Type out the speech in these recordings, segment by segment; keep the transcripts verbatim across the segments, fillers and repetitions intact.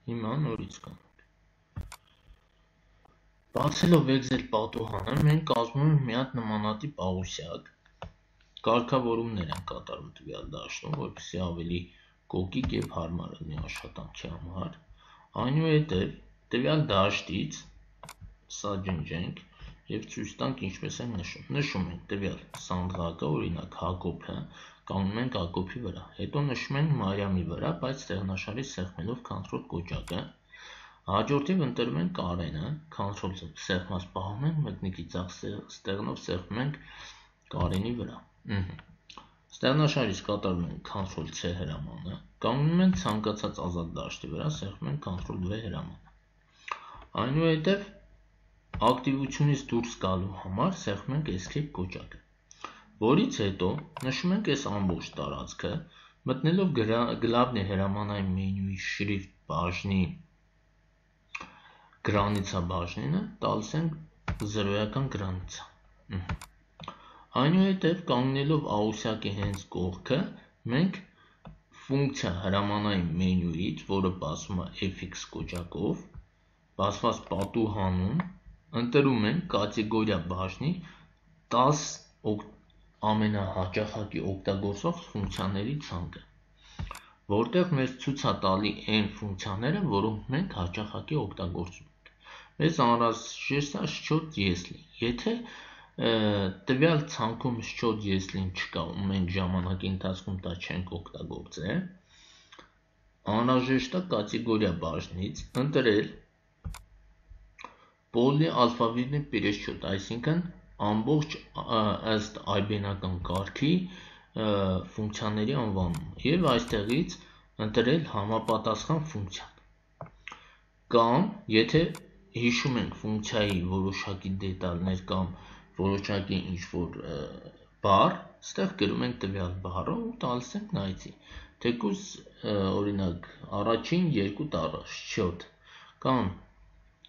Հիմա նորից կանենք։ Բացելով Excel պատուհանը, մենք կազմում ենք մի հատ նմանատիպ աղյուսակ, կարգավորումներ են կատարում տվյալ դաշտում, որպեսզի ավելի կոկիկ եւ հարմար լինի աշխատանքի համար։ Այնուհետև տվյալ դաշտից սա ջնջենք եւ ցույց տանք ինչպես են նշում։ Նշում ենք տվյալ սանդղակը, օրինակ Հակոբը, կանգնում ենք Հակոբի վրա։ Հետո նշում ենք Մարիամի վրա, բայց ստեղնաշարի սեղմելով Ctrl կոճակը։ Հաջորդիվ ընտրում ենք Կարենը, Ctrl սեղմած պահում ենք, մտնիկի ցախ ստեղնով սեղմում ենք Կարենի վրա։ Ստեղնաշարից կատարում ենք Ctrl C հրամանը, կանգնում ենք ցանկացած ազատ դաշտի վրա, սեղմում ենք Ctrl V հրամանը։ Այնուհետև ակտիվությունից դուրս գալու համար սեղմում ենք Escape կոճակը, որից հետո նշում ենք այս ամբողջ տարածքը, մտնելով գլավնի հրամանային մենյուի շրիֆտ բաժնի գրանիցա բաժնինը, տալիս ենք զրոյական գրանիցա։ Այնուհետև կանգնելով աղյուսակի հենց կողքը, մենք ֆունկցիա հրամանային մենյուից, որը բացվում է F X կոճակով, բացված պատուհանում ընտրում ենք կատեգորիա բաժնի տաս ամենահաճախակի օգտագործող ֆունկցիաների ցանկը, որտեղ մեզ ցույց է տալի այն ֆունկցիաները, որոնք մենք հաճախակի օգտագործում ենք։ Մեզ անհրաժեշտ է Счет если։ Եթե տվյալ ցանկում Счет если-ն չկա ու մենք ժամանակի ընթացքում դա չենք օգտագործել, անհրաժեշտ է կատեգորիա բաժնից ընտրել Полный алфавитный пересчет, այսինքն ամբողջ ըստ այբենական կարգի ֆունկցիաների անվանում եւ այստեղից ընտրել համապատասխան ֆունկցիան։ Կամ եթե հիշում ենք ֆունկցիայի որոշակի դետալներ կամ որոշակի ինչ-որ բառ, այստեղ գրում ենք տվյալ բառը ու տալիս ենք նայեցի։ Թեկուզ օրինակ առաջին երկու տառը Счет կամ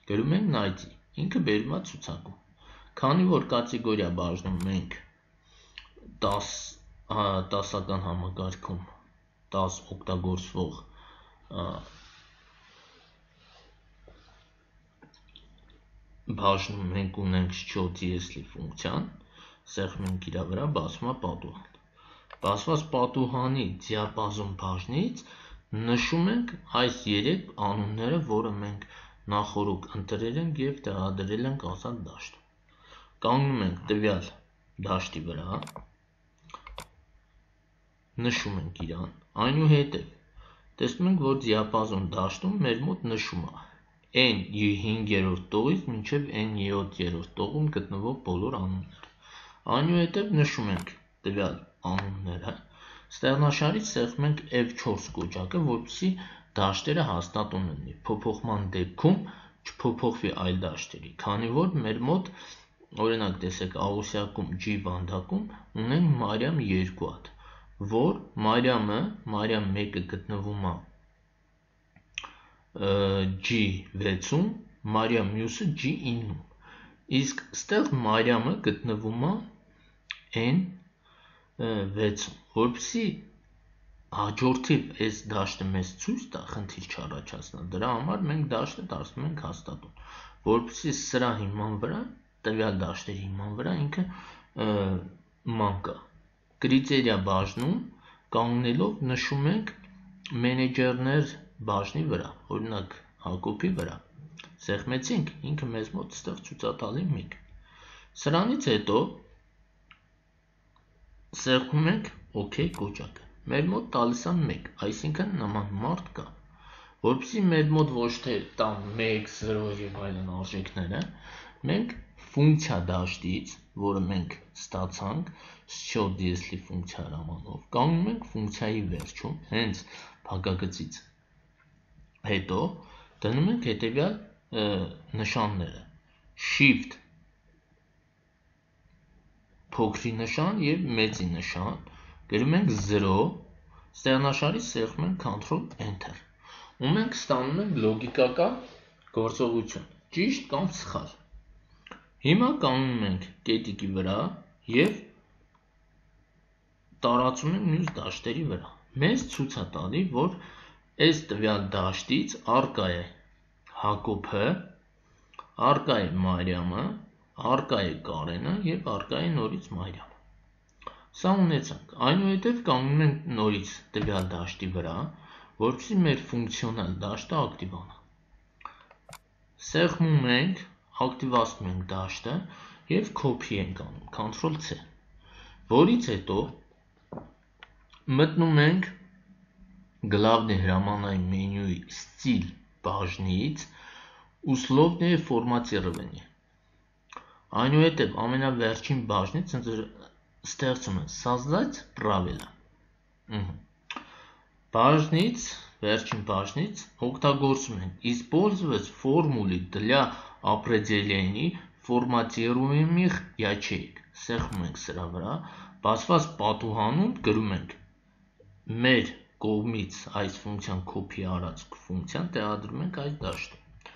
գրում ենք նայեցի, ինքը բերում է ցուցակում։ Քանի որ կատեգորիա բաժնում մենք տաս տասական համակարգում տաս օգտագործվող բաժնում մենք ունենք Счет если ֆունկցիան, սեղմում ենք իր վրա, բացվում է պատուհան։ Բացված պատուհանի դիապազոն բաժնից նշում ենք այս երեք անունները, որը մենք նախորոք ընտրել ենք եւ տեղադրել ենք ազատ դաշտում։ Կանգնում ենք տվյալ դաշտի վրա, նշում ենք իրան, այնուհետև տեսնում ենք, որ դիապազոն դաշտում մեր մոտ նշում է N հինգերորդ տողից մինչև N յոթերորդ տողում գտնվող բոլոր անունները։ Այնուհետև նշում ենք տվյալ անունները, ստեղնաշարից սեղմում ենք F չորս կոճակը, որպեսզի դաշտերը հաստատուն լինի, փոփոխման դեպքում չփոփոխվի այլ դաշտերի, քանի որ մեր մոտ օրինակ տեսեք աղյուսակում G վանդակում ունենք Մարիամ երկու հատ, որ Մարիամը, Մարիամ մեկը գտնվում է G վեցում, Մարիամ մյուսը G իննում, իսկ ստեղ Մարիամը գտնվում է N վեցում, որպեսզի հաջորդիվ այս դաշտը մեզ ցույց տա, խնդիր չառաջացնա, դրա համար մենք դաշտը դարձնում ենք հաստատուն, որպեսզի սրա հիման վրա, տվյալ դաշտերի հիման վրա ինքը մանկա։ Կրիտերիա բաժնում կանգնելով նշում ենք մենեջերներ բաժնի վրա, օրինակ Հակոբի վրա, սեղմեցինք, ինքը մեզ մոտ ստեղ ցույց է տալի մեկ։ Սրանից հետո սեղմում ենք OK կոճակը, մեր մոտ տալիս է մեկ, այսինքն նման մարդ կա, որպեսզի մեր մոտ ոչ թե տան մեկ, զրո եւ այլն արժեքները, մենք ֆունկցիա դաշտից, որը մենք ստացանք Счет если ֆունկցիա հրամանով, կանգնում ենք ֆունկցիայի վերջում, հենց փակագծից հետո դնում ենք հետեւյալ նշանները Shift փոքրի նշան եւ մեծի նշան, գրում ենք զրո, ստեղնաշարից սեղմում ենք Ctrl Enter, ու մենք ստանում ենք լոգիկական գործողություն, ճիշտ կամ սխալ։ Հիմա կանգնում ենք կետիկի վրա եւ տարածում ենք մյուս դաշտերի վրա։ Մեզ ցույց է տալի, որ այս տվյալ դաշտից արկա է Հակոբը, արկա է Մարիամը, արկա է Կարենը և արկա է նորից Մարիամը։ Սա ունեցանք, այնուհետև կանգնում ենք նորից տվյալ դաշտի վրա, որպեսզի մեր ֆունկցիոնալ դաշտը ակտիվանա։ Սեղմում ենք, ակտիվացնում ենք դաշտը և copy ենք անում, control C, որից հետո մտնում ենք գլավնի հրամանային մենյուի ստիլ բաժնից условные formatирование։ Այնուհետև ամենավերջին բաժնից ստեղծում են создать правила։ Բաժնից, վերջին բաժնից օգտագործում են использовать формулы для определения форматируемых ячеек։ Սեղմում ենք սրա վրա, բացված պատուհանում գրում ենք մեր կողմից այս ֆունկցիան copy արած ֆունկցիան տեղադրում ենք այս դաշտում։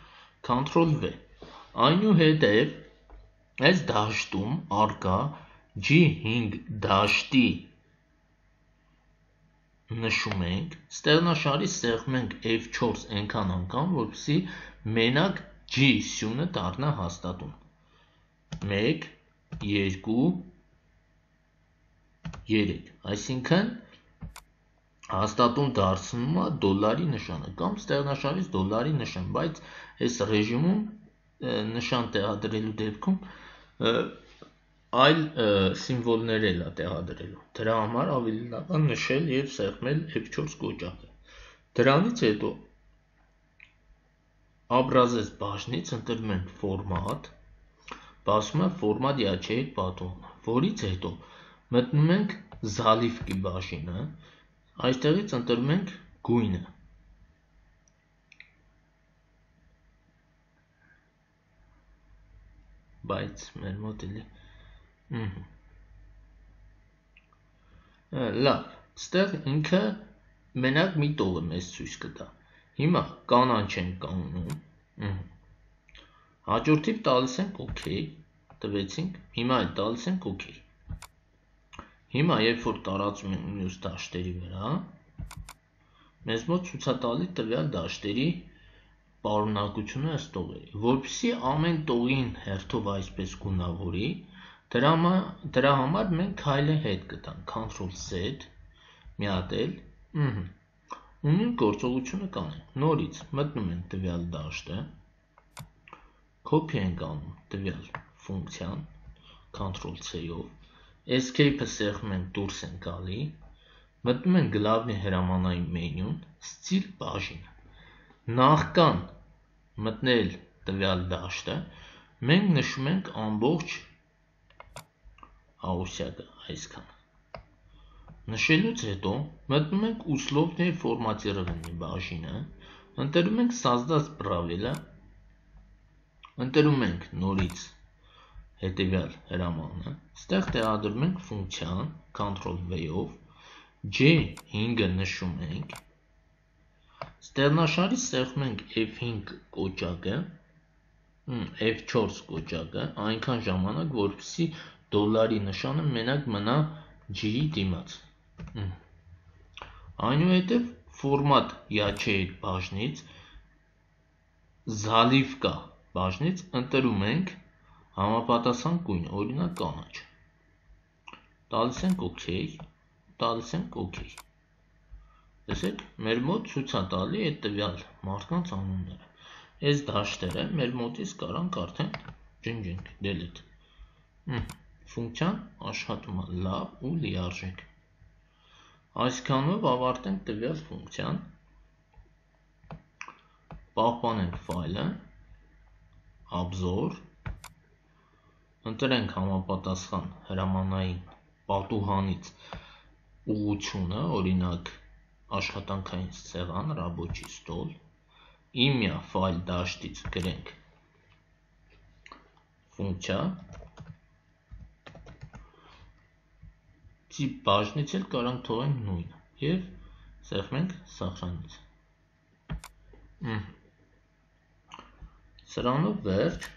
control V։ Այնուհետև այս դաշտում արկա G հինգ դաշտի նշում ենք, ստեղնաշարից սեղմում ենք F չորս այնքան անգամ, որպեսզի մենակ G սյունը դառնա հաստատուն։ մեկ, երկու, երեք, այսինքն հաստատուն դարձնում է դոլարի նշանը կամ ստեղնաշարից դոլարի նշան, բայց այս ռեժիմում նշան տեղադրելու դեպքում այլ սիմվոլներ էլ է տեղադրելու։ Դրա համար ավելի լավ է նշել և սեղմել F չորս կոճակը։ Դրանից հետո образец բաժնից ընտրում ենք ֆորմատ, բացվում է ֆորմատ ячеек պատուհանը, որից հետո մտնում ենք заливки բաժինը, այստեղից ընտրում ենք գույնը։ Բայց մեր մոտ էլի լավ, ստեղ ինքը մենակ մի տող է մեզ ցույց կտա։ Հիմա կանաչ ենք կանգնում, հաջորդիվ տալիս ենք OK, տվեցինք, հիմա էլ տալիս ենք OK։ Հիմա երբ որ տարածում ենք մյուս դաշտերի վրա, մեզ մոտ ցույց է տալի տվյալ դաշտերի պարունակությունը ըստ տողերի, որպեսզի ամեն տողին հերթով այսպես գունավորի, դրա համար մենք քայլը հետ կտանք, control Z, մի հատ էլ, ու նույն գործողությունը կանենք, նորից մտնում ենք տվյալ դաշտը, copy ենք անում տվյալ ֆունկցիան, control C-ով, escape-ը սեղմում ենք դուրս ենք գալի, մտնում ենք գլավնի հրամանային մենյուն, ստիլ բաժինը։ Նախքան մտնել տվյալ դաշտը, մենք նշում ենք ամբողջ աուսյակը այսքան։ Նշելուց հետո մտնում ենք условные formatирование բաժինը, ընտրում ենք создать правила, ընտրում ենք նորից հետևյալ հրամանը, ստեղ տեղադրում ենք ֆունկցիան, control V-ով, G հինգը նշում ենք, ստեղնաշարից սեղմում ենք F հինգ կոճակը, F չորս կոճակը, այնքան ժամանակ, որպեսզի դոլարի նշանը մենակ մնա G-ի դիմաց։ Այնուհետև ֆորմատ ячеек բաժնից, заливка բաժնից ընտրում ենք համապատասխան գույն, օրինակ կանաչ։ Տալիս ենք OK, տալիս ենք OK։ Տեսեք, մեր մոտ ցույց է տալի այդ տվյալ մարդկանց անունները։ Այս դաշտերը մեր մոտից կարանք արդեն ջնջենք, delete։ Ֆունկցիան աշխատում է լավ ու լիարժեք։ Այսքանով ավարտենք տվյալ ֆունկցիան, պահպանենք ֆայլը, obzor, ընտրենք համապատասխան հրամանային պատուհանից ուղղությունը, օրինակ աշխատանքային սեղան, рабочий стол, իմյա ֆայլ դաշտից գրենք ֆունկցիա, տիպ բաժնից էլ կարանք թողենք նույնը և սեղմենք սախրանից։ Սրանով վերջ։